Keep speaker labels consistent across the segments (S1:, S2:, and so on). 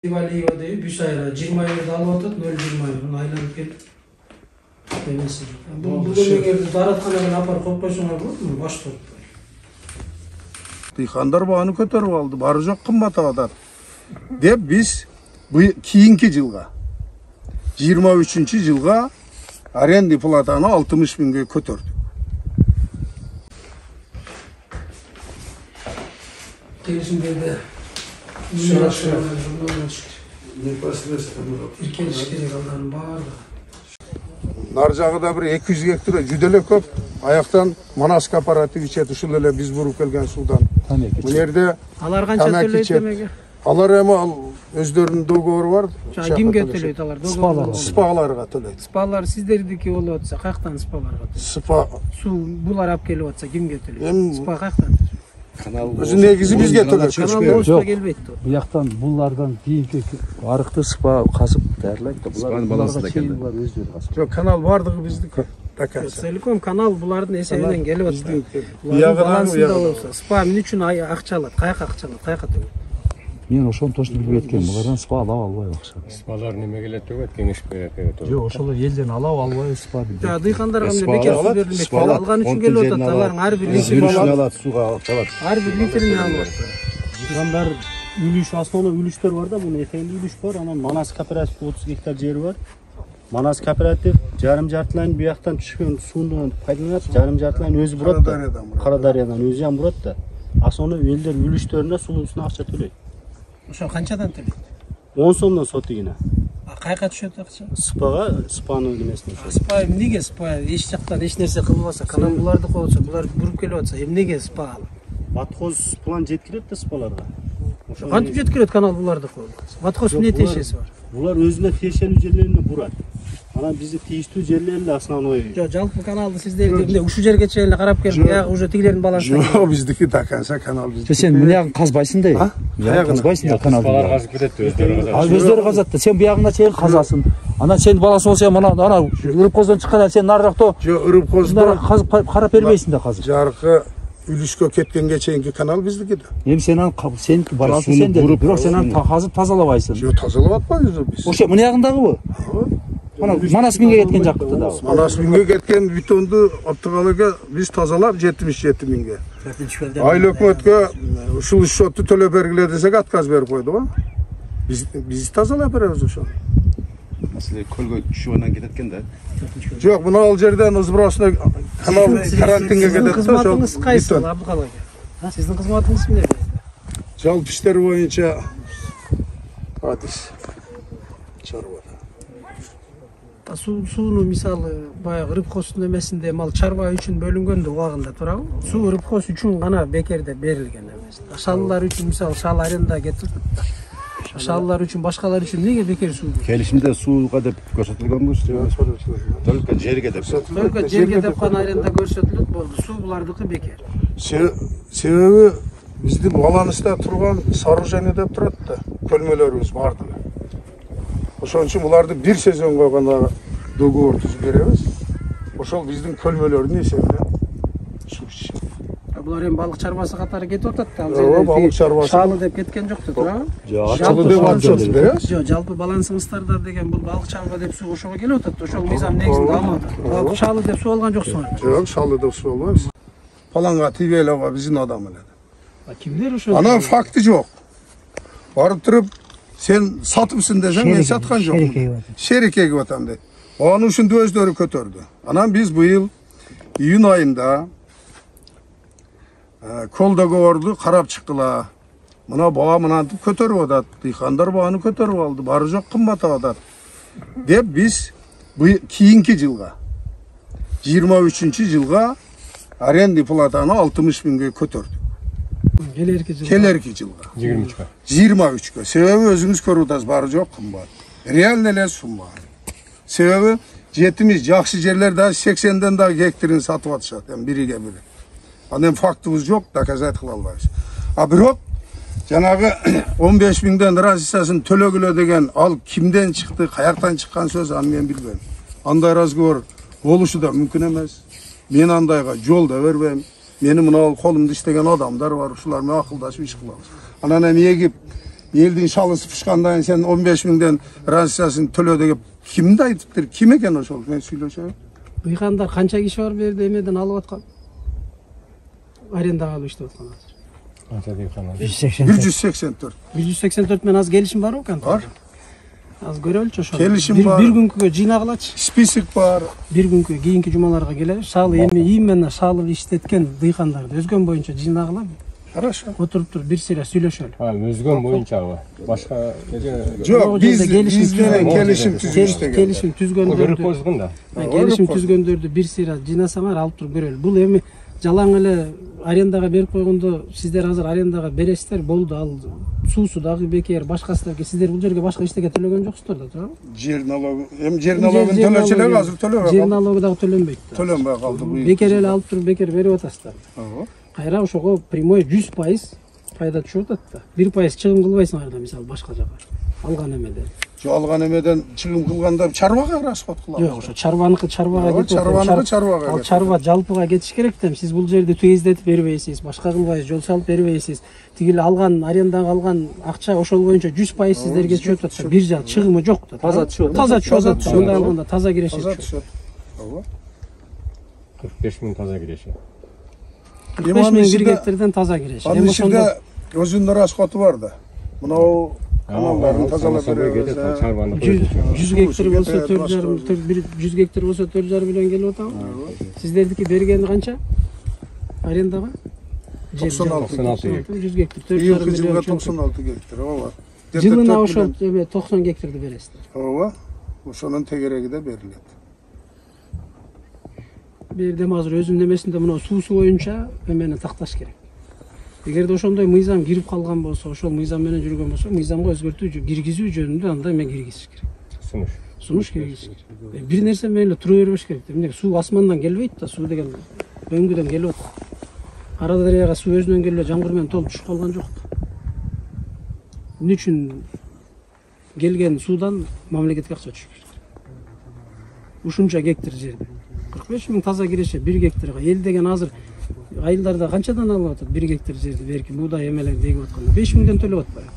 S1: Ивалиева deyip 3 ayra 20 ayda alıp atıp 0,20 ayını aylanıp gelip demesi. Bu dönemlerde daratxanadan apar koyup koysunlar bolot mu? Baş turup.
S2: Dıyxanдар бағаны көтөрүп алды, бары жок кымбат атат. Деп биз кийинки жылга 23-жылга аренда платаны 60 миңге көтөрдүк.
S1: Келишимдерде
S2: Нар жагыда бир 200 гектар жүдө эле көп. Аяктан Манас кооператив ичет, ушул эле биз буруп келген судан. Бул жерде
S1: алар канча төлөйт демеге?
S2: Алар эми өздөрүнүн договору бар.
S1: Кимге төлөйт алар?
S2: Спаларга төлөйт.
S1: Спалар сиздердики болуп атса, каяктан спаларга төлөйт?
S2: Спа
S1: суу булар алып келип атса, кимге төлөйт? Спа каяктан?
S2: Өзү негизи бизге төлөйт.
S1: Канал болсо келбейт.
S3: Буяктан булардан кийинки арыкты спа казып дээрлейт да. Булардын балансында экен. Булар өздөрү казып.
S2: Жок, канал бардыгы биздики.
S1: Целиком канал булардын эсебинен келип атты. Балансында болсо, спа эмне үчүн акча алат? Каяка акча алат? Каяка төлөйт?
S3: Мен ошону точно билбей кеткем. Булардан спа алып албайбы акча?
S4: Спалар неме келет деп кеңеш берет деп.
S3: Жок, ошол элден алып албайбы спа деп.
S1: Дыйкандарга эмне бекер суу берилмек? Алган үчүн келип атат. Алардын ар бир литрин
S4: алат, сууга алат.
S1: Ар бир литрин алып атат.
S5: Дыйкандар үлүш, основной үлүштөр бар да, бунун этегинде үлүш бар. Анан Манас кооператив 30 гектар жери бар. Манас кооператив жарым-жартылайын бияктан түшкөн сууну пайдаланат, жарым-жартылайын өзү бурат да. Кара дарыядан өзү ham бурат да. Основной элдер үлүштөрүнө сууусуна акча төлөйт.
S1: Ошо канчадан төлөйт?
S5: 10 сомдон сотигине.
S1: Кайка түшөт акча?
S5: Спага, спанын немесине.
S1: Спа эмнеге спа? Эч жактан эч нерсе кылбаса, канал буларды коёбса, булар буруп келип атса, эмнеге спа алып?
S5: Баткоз план жеткирет да спаларга.
S1: Кантип жеткирет канал буларды коюп? Баткоз эмне тиешеси бар?
S5: Булар өзүнө тиешелүү жерлерине бурат. Анан бизди тийиштүү жерлер эле основной.
S1: Жок, жалпы каналды сиздер эмне ушул жерге чейин эле карап келип, ягы уже тигилердин балансына.
S2: Жок, биздики до конца канал биздики.
S3: Сен буягын казбайсың да? Казбайсың да каналды.
S4: Спалар казып кетет өздөрү казат.
S3: Өздөрү казат да. Сен буягына чейин казасың. Анан сен баласы болсо ана Ырыпкоздон чыкканда сен нарыраакта
S2: Жок, Ырыпкоздо
S3: карап бербейсиң да казып.
S2: Жаркы үлүшкө кеткенге чейинки канал биздики да.
S3: Эми сеники баласы сенде, бирок сен аны казып тазалабайсың.
S2: Жок, тазалап атпайбыз биз.
S3: Ошо мына ягындагыбы? Ана Манас миңге кеткен жакты да.
S2: Манас миңге кеткен бетонду оптугалыга биз тазалап 77 миңге. Айыл өкмөткө ушул счетту төлөп бергиле десек отказ берип койду го. Биз тазалап беребиз ошону.
S4: Маселе көлгө түшүп анан кетет экен да.
S2: Жок, мына ал жерден ызбыросуна канал карантинге кетет да.
S1: Кызматыңыз кайсы, Абдыкал ака? Сиздин кызматыңыз эмне?
S2: Жалпы иштер боюнча адис чарбада.
S1: Сууну мисалы баягы Ырыпкоздун эмесинде мал чарба үчүн бөлүнгөндө убагында турабы? Суу Ырыпкоз үчүн гана бекер деп берилген эмес. Шаалылар үчүн мисалы шаал аренда кетип, шаалылар үчүн башкалар үчүн эмнеге бекер суу?
S4: Келишимде сууга деп көрсөтүлгөнбү? Только жерге деп.
S1: Только жерге деп гана аренда көрсөтүлөт болду. Суу булардыкы бекер.
S2: Себеби биздин баланста турган сооружение деп турат да. Көлмөлөрүбүз бардыгы. Ошон үчүн буларды бир сезонго гана договор түзүп беребиз. Ошол биздин көлмөлөрдүн эсебинен суу ичишет.
S1: Булар эми балык чарбасы катары кетип атат да.
S2: Ооба, балык чарбасы.
S1: Шаалы деп кеткен жокту, туурабы?
S2: Шаалы деп атып беребиз.
S1: Жок, жалпы балансыңыздарда деген бул балык чарба деп суу ошого келип атат. Ошол мыйзам негизинде алынат. Шаалы деп суу алган жоксуңар.
S2: Жок, шаалы деп суу албайбыз. Паланга тибелова биздин адам эле.
S1: Кимдер ошол?
S2: Анан факты жок. Барып туруп сен сатыпсың десең, мен саткан жокмун. Шерикеге атам дейт. Анын ушунду өздөрү көтөрдү. Анан биз быйыл июнь айында кол договорду карап чыккыла. Мына баа мынантип көтөрүп атат. Дыйкандар бааны көтөрүп алды. Бары жок кымбат атат. Деп биз кийинки жылга 23-жылга аренда платаны 60 миңге көтөрдүк. Келерки жылга
S4: 23-кө.
S2: 23-кө. Себеби өзүңүз көрүп атасыз, бары жок кымбат. Реально эле сумма. Себеби жетимиз жакшы жерлер да 80ден да гектарин сатып атышат, эми бириге бири. Анан фактыбыз жок, доказать кыла албайбыз. А бирок жанагы 15 миңден разницасын төлөгүлө деген ал кимден чыкты, каяктан чыккан сөз, аны мен билбейм. Андай разговор болушу да мүмкүн эмес. Мен андайга жол да бербейм. Менин мына колумда иштеген адамдар бар, ушулар менен акылдашып иш кылабыз. Анан эми эгип Элдин шалысы пышкандан сен 15 миңден разницасын төлө деп кимди айтыптыр? Ким экен ошол? Мен сүйлөшөм.
S1: Дыйкандар канча киши бар берди эмеден алып аткан? Арендага алып иштеп аткан азыр.
S5: Канча дыйкандар?
S2: 184.
S1: 184 менен аз келишим барбы экен?
S2: Бар.
S1: Az görөлчү ошо.
S2: Келишим бар.
S1: Bir күнгө жыйнагылачы.
S2: Список бар.
S1: Bir күнгө кийинки жумаларга келели. Шалы эми ийим менен шалы иштеткен дыйкандарды өзгөн боюнча жыйнагыла.
S2: Хорошо.
S1: Отуруп туруп бир сыйра сүйлөшөлү.
S5: Өзгөн боюнчабы? Башка
S2: Жок, биз менен келишим түзүштүк.
S1: Келишим түзгөндөрдү.
S5: Козгун да.
S1: Келишим түзгөндөрдү бир сыйра жыйнасаңар алып туруп көрөлү. Бул эми жалаң эле арендага берип койгондо сиздер азыр арендага бересиздер, болду. Ал суусу дагы бекер, башкасы дагы. Сиздер бул жерге башка эчтеке төлөгөн жоксуздар да, туурабы?
S2: Жер налогу, эми жер налогун төлөчүлөр азыр төлөбөй.
S1: Жер налогу дагы төлөнбөйт.
S2: Төлөнбөй калды.
S1: Бекер эле алып туруп бекер берип атасыздар.
S2: Ооба.
S1: Кайра ошого прямой 100% пайда түшүп атат да. 1% чыгым кылбайсыңар да, мисалы башка жака. Алган эмеден.
S2: Жок, алган эмеден чыгым кылганда чарбага расход кылабыз.
S1: Жок, ошо чарбаныкы чарбага кетип.
S2: Чарбаныкы
S1: Ал чарба жалпыга кетиш керек да. Сиз бул жерди түгөздетип бербейсиз, башка кылбайсыз, жол салып бербейсиз. Тигил алган арендага алган акча ошол боюнча 100% сиздерге түшүп атат. Бир жак чыгымы жок да.
S3: Таза түшөт.
S1: Таза түшөт. Анда алганда таза киреше
S2: Таза
S1: түшөт.
S2: түшөт. Ооба.
S5: 45 миң таза киреше.
S1: 45 миң бир гектардан таза киреше.
S2: Анын ичинде өзүнүн расходу бар да. Мынау каналдарын тазалап беребиз.
S1: 100 гектар болсо 4,5 100 гектар болсо 4,5 миллион келип атабы? Сиздердики бергени канча? Арендага?
S2: 96
S1: гектар. 100 гектар 4,5
S2: Жылга
S1: миллион.
S2: 96 гектар, ооба.
S1: Жылына ошол 90 гектарды бересиздер.
S2: Ооба. Ошонун тегереги да берилет.
S1: Бердем азыр өзүмдүн эмесинде мына суусу боюнча эмени такташ керек. Эгерде ошондой мыйзам кирип калган болсо, ошол мыйзам менен жүргөн болсо, мыйзамга өзгөртүү киргизүү жөнүндө андай эме киргизиш керек. Сунуш киргизиш керек. Бир нерсе менен эле тура бербеш керек. Эмне суу асмандан келбейт да, суу деген өңгүдөн келип атат. Ара дарыяга суу өзүнөн келип жамгыр менен толуп түшүп калган жок да. Эмне үчүн келген суудан мамлекетке акча түшүш керек? Ушунча гектар жерде 45 миң таза киреше 1 гектарга. Эл деген азыр айылдарда канчадан алып атат 1 гектар жерди, берки буудай эмелерди эгип атканда 5 миңден төлөп атпайбы?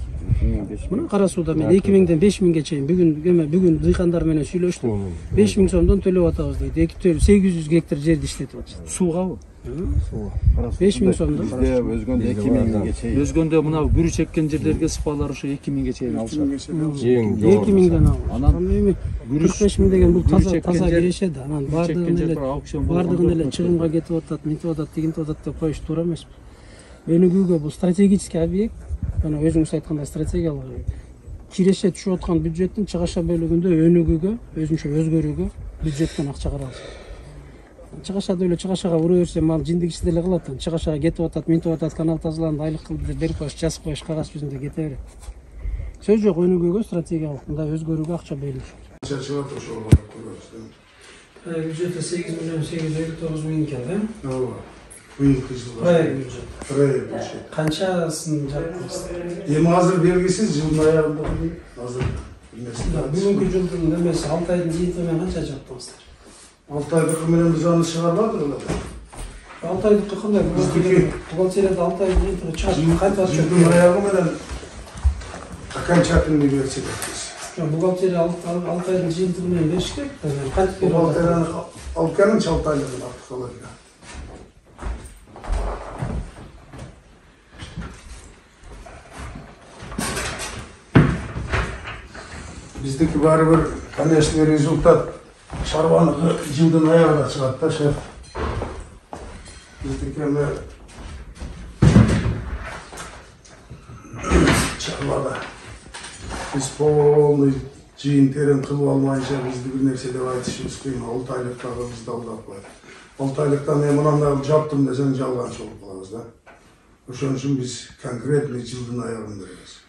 S1: Мына кара сууда мен 2 миңден 5 миңге чейин бүгүн дыйкандар менен сүйлөштүм. 5 миң сомдон төлөп атабыз дейт. 800 гектар жерди иштетип атышат.
S3: Суугабы?
S1: 5 миң сомдон.
S4: Бизде өзгөндө 2 миңге чейин.
S3: Өзгөндө мына күрү чеккен жерлерге сыпалар ошо 2 миңге чейин алышат.
S1: 2 миңден алып. Анан эми 45 миң деген бул таза киреше да. Анан бардыгын эле чыгымга кетип атат, мынтип атат, тигинтип атат деп коюш туура эмес. Өнүгүүгө бул стратегический объект. Жана өзүңүз айткандай стратегиялык киреше түшүп аткан бюджеттин чыгаша бөлүгүндө өнүгүүгө, өзүнчө өзгөрүүгө бюджеттен акча каралсын. Чыгашада эле чыгашага ура берсе, мал жиндик ишти деле кылат. Чыгашага кетип атат, мынтип атат, канал тазаланды, айлык кылды деп берип коюш, жазып коюш, кагаз жүзүндө кете берет. Сөз жок, өнүгүүгө стратегиялык мындай өзгөрүүгө акча бөлүш.
S2: Чачылат ошол көрөбүз.
S1: Бюджетте 8 миллион 859 миң экен, да?
S2: Ооба. Быйылкы жылга.
S1: Проект бюджет. Канчасын жаптыңыздар?
S2: Эми азыр белгисиз жылдын аягында азыр
S1: Бүгүнкү жылдын немеси 6 айдын жыйынтыгы менен канча жаптыңыздар?
S2: 6 айдыкы менен биз аны чыгарбадык эле.
S1: 6 айдыкы кандай? Бухгалтерияда 6 айдын жыйынтыгы чыгат. Кантип атышат?
S2: Жылдын аягы менен окончательный берсе дейбиз.
S1: Бухгалтерия 6 айдын жыйынтыгы менен бериш керек. Кантип берип атат?
S2: Бухгалтерияны алып келин 6 айлыгын артык алат. Биздики баары бир конечный результат чарбаныкы жылдын аягында чыгат да, шеф. Биздики эми чарбада биз полный жыйын терен кылып алмайынча бизди бир нерсе деп айтышыбыз кыйын. 6 айлыктагы бизди алдап коет. 6 айлыктан мен мындан жаптым десең жалганчы болуп калабыз да. Ошон үчүн биз конкретный жылдын аягын беребиз.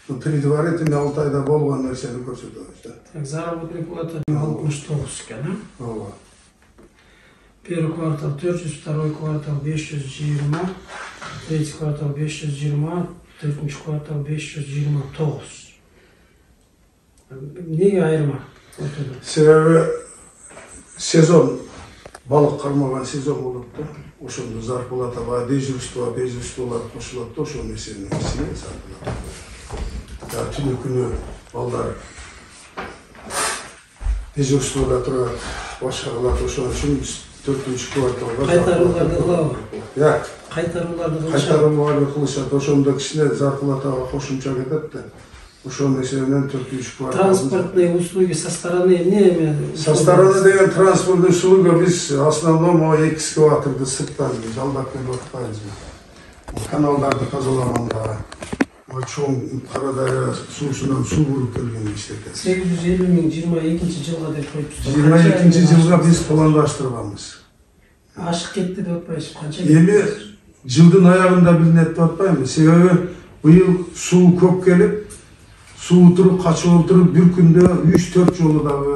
S2: Предварительно 6 айда болгон нерсени көрсөтөбүз да.
S1: Заработный плата 69 экен, а?
S2: Ооба.
S1: Первый квартал 400, второй квартал 520, третий квартал 520, төртүнчү квартал 529. Неге айырма?
S2: Себеби сезон балык кармаган сезон болот да. Ошондо зарплата дежурство, безустволор кошулат да, ошонун эсебинен сатылат. түнү күнү балдар дежурствода турат, башка кылат. Ошон үчүн биз 4-кварталга
S1: Кайтарууларды кылабы?
S2: Кайтарууларды
S1: Кайтарууларды
S2: кылышат. Ошондо кичине зарплатага кошумча кетет да. Ошонун эсебинен 4-квартал.
S1: Транспортные услуги со стороны эмне?
S2: Со стороны деген транспортный услуга биз основном 2 экскаваторду сырттан жалдап келип атпайбызбы. Каналдарды тазалаганда, чоң Кара Дарыя суусунан суу буруп келген иштетет.
S1: 850 миң 22-жылга деп коюпсуздар.
S2: 22-жылга биз пландаштырганбыз.
S1: Ашык кетти деп атпайсызбы? Канча?
S2: Эми жылдын аягында билинет деп атпайбы? Себеби быйыл суу көп келип, суу туруп, качып отуруп, бир күндө 3-4 жолу дагы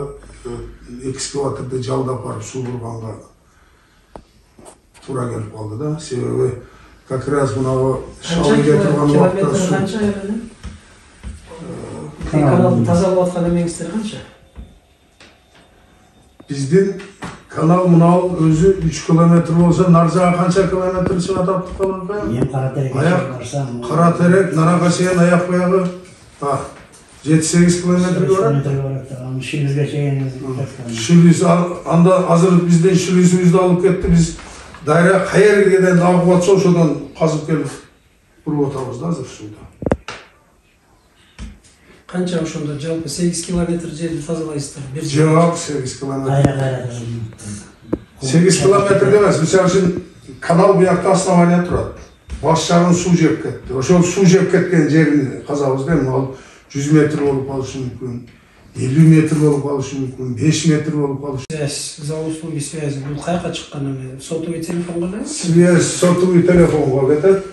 S2: экскаваторду жалдап барып суу бурганга туура келип калды да. Себеби как раз мынау шалы кетирген убакта суу.
S1: Канча эме? Каналды тазалап аткан эмеңиздер канча?
S2: Биздин канал мынау өзү 3 километр болсо, нар жагы канча километр чыгат атып калган?
S6: Эми Каратерек
S2: Каратерек, Нарага чейин аяк баягы 7-8 километрге барат.
S6: Шилизге чейин.
S2: Шилиз анда азыр бизден шилизибизди алып кетти. Биз Дария кайерден агып атса ошодон казып келип буруп атабыз да азыр сууда.
S1: Канча ошондо жалпы 8 километр жерди тазалайсыздар?
S2: Жок, 8 километр.
S6: Кайра.
S2: 8 километр эмес, мисалы үчүн канал буякта основание турат. Баш жагын суу жеп кетти. Ошол суу жеп кеткен жерин казабыз да, ал 100 метр болуп калышы мүмкүн, 50 метр болуп калышы мүмкүн, 5 метр болуп калышы.
S1: Связь, за услуги связи. Бул кайка чыккан эме? Сотовый телефонго эле?
S2: Связь сотовый телефонго кетет.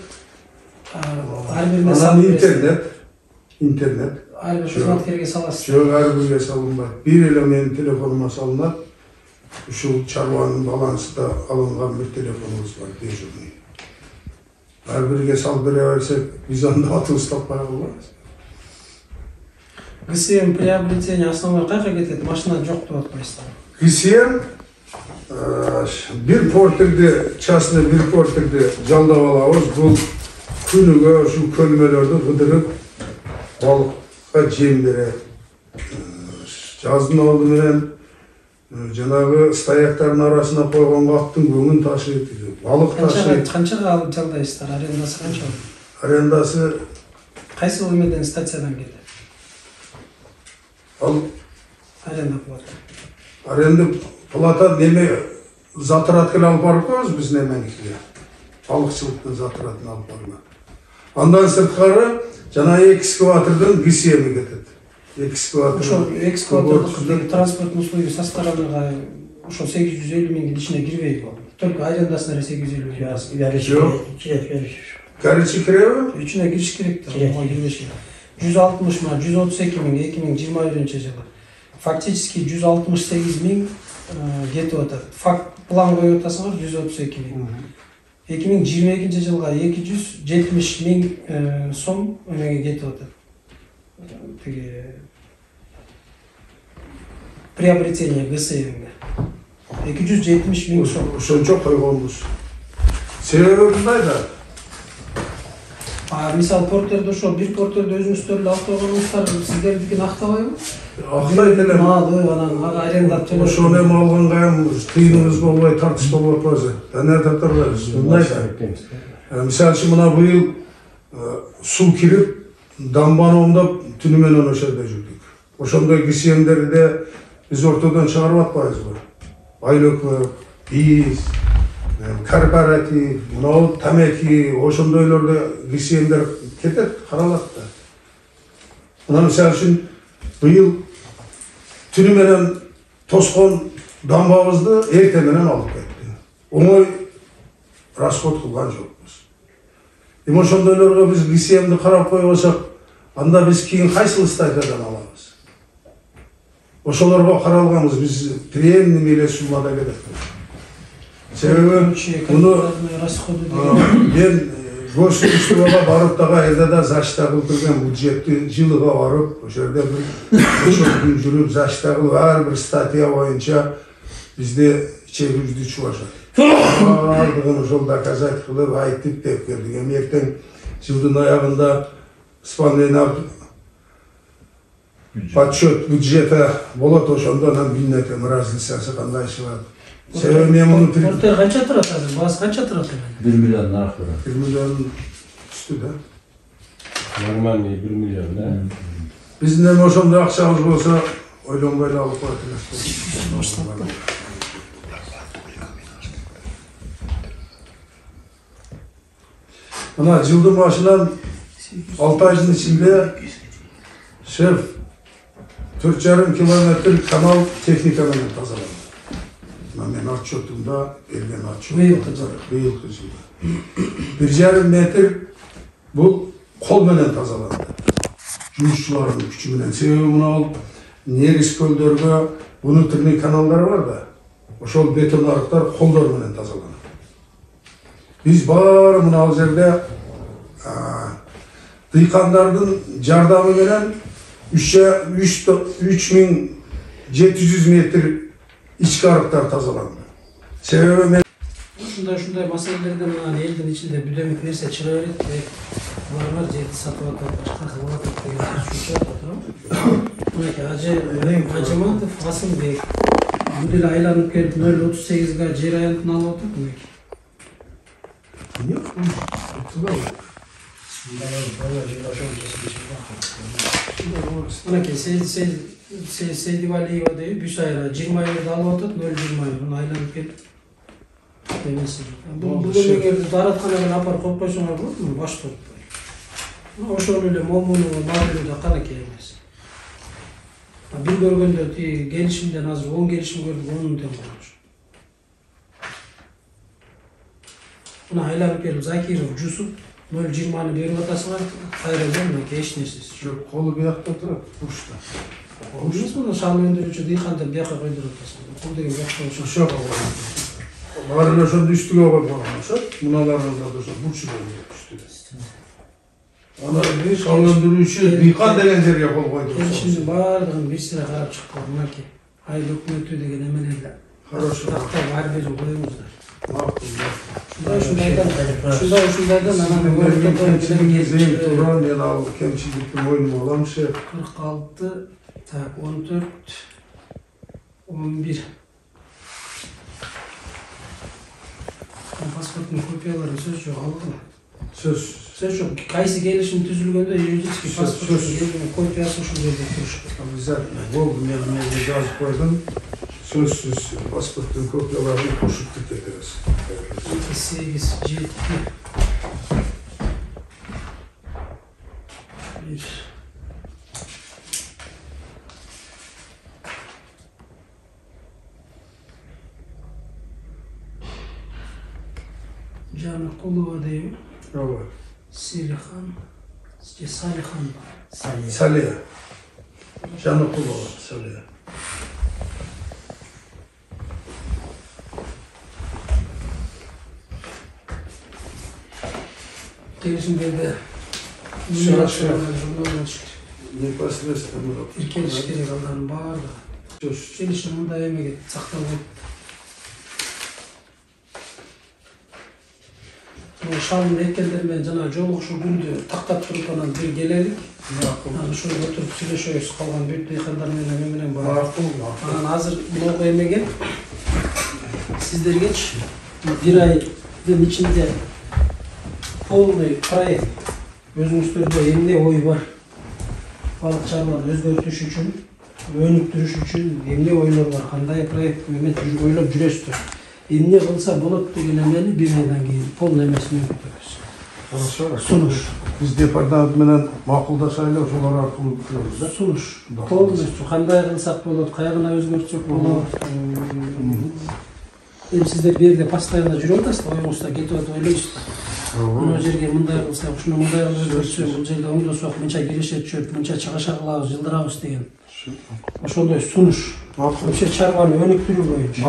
S2: Анан интернет.
S1: Ар бир кызматкерге саласыз.
S2: Жок, ар бирге салынбайт. Бир эле менин телефонума салынат. Ушул чарбанын балансында алынган бир телефонубуз бар, дежурный. Ар бирге салып бере берсек, биз анда атыбыз таппай калбайбыз.
S1: ГСМ приобретение основной кайка кетет? Машина жок деп атпайсыздар?
S2: ГСМ бир портерди, частный бир портерди жалдап алабыз. Бул күнүгө ушу көлмөлөрдү кыдырып, балыкка жем берет. Жаздын алды менен жанагы стаяктардын арасына койгон каптын көңүн ташыйт, балык ташыйт.
S1: Канчага алып жалдайсыздар? Арендасы канча?
S2: Арендасы
S1: Кайсы эмеден стациядан келет?
S2: ал
S1: Аренда плата.
S2: аренда плата неме затрат келе алып барып коебуз биз неменикиге. Балыкчылыктын затратын алып барып. Андан сырткары жана экскаватордун ГСМи кетет.
S1: Ошол экскаватордун транспорттун услуги со стороныга ошол 850 миңдин ичине кирбейби? Только арендасына 850 миң.
S2: Горячий киреби?
S1: Үчүнө кириш керек да, ого кирбеш керек. 160 ма, 132 миң 2021-жылы. Фактически 168 миң кетип атат. Факт план коюп атасыңар 132 миң. 2022-жылга 270 миң сом эмеге кетип атат. Тиги приобретение ГСМ-ге. 270 миң сом.
S2: Ошончо койгонбуз. Себеби мындай да.
S1: Мисал портерде ошо бир портерде өзүңүздөр эле алып койгонуңуздар сиздердикин актабайбы?
S2: Актайт эле.
S1: Малды анан аренда төлөп.
S2: Ошону эми алганга эми тыйыныбыз болбой, тартыш болуп атпайбы? Кане тартабайбыз. Мындай да. Мисалы үчүн мына быйыл суу кирип, дамбаны оңдоп, түнү менен ошол жерде жүрдүк. Ошондой ГСМдерди биз ортодон чыгарып атпайбызбы? Айлөкмөк, биз, корпоратив, мынау тамеки, ошондойлордо ГСМдер кетет, каралат да. Мына мисалы үчүн быйыл түнү менен тоскон дамбабызды эрте менен алып кетти. Оңой расход кылган жокпуз. Эми ошондойлорго биз ГСМди карап койбосок, анда биз кийин кайсыл статьядан алабыз? Ошолорго каралганбыз, биз премиум эле суммада кетет. Себеби муну мен государствого барып дагы элде да зачита кылып келген бюджетти жылыга барып, ошол жерде бир күн жүрүп зачита кылып ар бир статья боюнча бизде чегибизди чубашат. Бардыгын ошол доказать кылып айтып деп келдик. Эми эртең жылдын аягында исполнение подсчет бюджета болот, ошондо анан билинет разницасы кандай чыгат. Себеби мен муну
S1: Орта канча турат азыр? Баасы канча турат?
S3: 1 миллион нарк турат.
S2: 1 миллион үстү да.
S7: Нормальный 1 миллион, да?
S2: Биздин эми ошондой акчабыз болсо ойлонбой эле алып коет элес. Мына жылдын башынан 6 айдын ичинде шеф 4,5 километр канал техника менен тазаланды. Мен отчетумда берген отчет. Быйылкы жылы. 1,5 метр бул кол менен тазаланды. Жумушчулардын күчү менен. Себеби мына негиз көлдөргө внутренний каналдар бар да. Ошол бетон арыктар колдор менен тазаланат. Биз баары мына ал жерде дыйкандардын жардамы менен 3700 метр ички арыктар тазаланды. Себеби мен
S1: Ушундай маселелерден анан элдин ичинде бүдөмүк нерсе чыга берет. Булар бар жерди сатып атат, башка кылып атат деген сөз турат. Мынакей Ажыматов Асылбек бул эле айланып келип 0.38га жер аянтын алып атат мынакей. Мынакей Сейдивалиева деп Бюсайра 20 айларды алып атат, 0.20 муну айланып келип. Бул эгерде даратканага апарып коюп койсоңор болот, баш болуп. Ошол эле момуну мамиледе канакей эмес. Бир көргөндө тиги келишимден азыр 10 келишим көрдүк, 10 тең болчу. Мына айланып келип Закиров Жусуп 0.20 берип атасыңар, кайра мынакей эч нерсеси жок.
S2: колу биякта турат, бушта.
S1: Эмес муну шал өндүрүүчү дыйканды бияка койдуруп атасың. Кол деген бияка
S2: ошо. Баары эле ошондо үстүгө коюп койгон ошо. Муналардын да ошо бурчу болуп үстүгө. Аны шал өндүрүүчү дыйкан деген жерге кол койду.
S1: Келишимдин баардыгын бир сыра карап чыкты. Мынакей айыл өкмөтү деген эмелерди.
S2: Хорошо.
S1: Тактап ар бирин коюңуздар.
S2: Ушундайдан
S1: анан
S2: кемчилик туран мен ал кемчиликти мойнума алам шеф.
S1: 46 так 14 11 паспорттун копиялары сөз жок алдыма.
S2: Сөз
S1: жок. Кайсы келишим түзүлгөндө юридический паспорттун копиясы ушул жерде турушу.
S2: Обязательно. Болду, мен жазып койдум. Сөзсүз паспорттун копияларын кошуп кетебиз.
S1: 8 7 1 Жаныкулова дейби?
S2: Ооба.
S1: Салихан.
S2: Салия. Жаныкулова, Салия.
S1: Келишимдерде
S2: непосредственно
S1: тиркелиш керек алардын баардыгы. Келишим мындай эмеге сакталбайт. Шалдын экендер менен жана жолугушуу күндү тактап туруп анан бир келелик. Анан ушул отуруп сүйлөшөбүз калган бүт дыйкандар менен бар. Анан азыр могу эмеге сиздергечи бир айдын ичинде полный проект өзүңүздөрдө эмне ой бар? Балык чарбаны өзгөртүш үчүн, өнүктүрүш үчүн эмне ойлор бар? Кандай проект менен ойлоп жүрөсүздөр? Эмне кылса болот деген эмени бир айдан кийин полный эмесин өткөрөбүз. Сунуш.
S2: Биз департамент менен макулдашайлы, ошолор аркылуу өткөрөбүз да.
S1: Сунуш. Полностью кандай кылсак болот, кайгына өзгөртсөк болот. Эми сиздер бул жерде постоянно жүрүп атасыздар, оюңузда кетип атып ойлойсуздар. Мына жерге мындай кылсак, ушуну мындай кылып өзгөртсөк, бул жерде оңдосок, мынча киреше түшөт, мынча чыгаша кылабыз, жылдырабыз деген. Ошондой сунуш. Вообще чарбаны өнүктүрүү боюнча.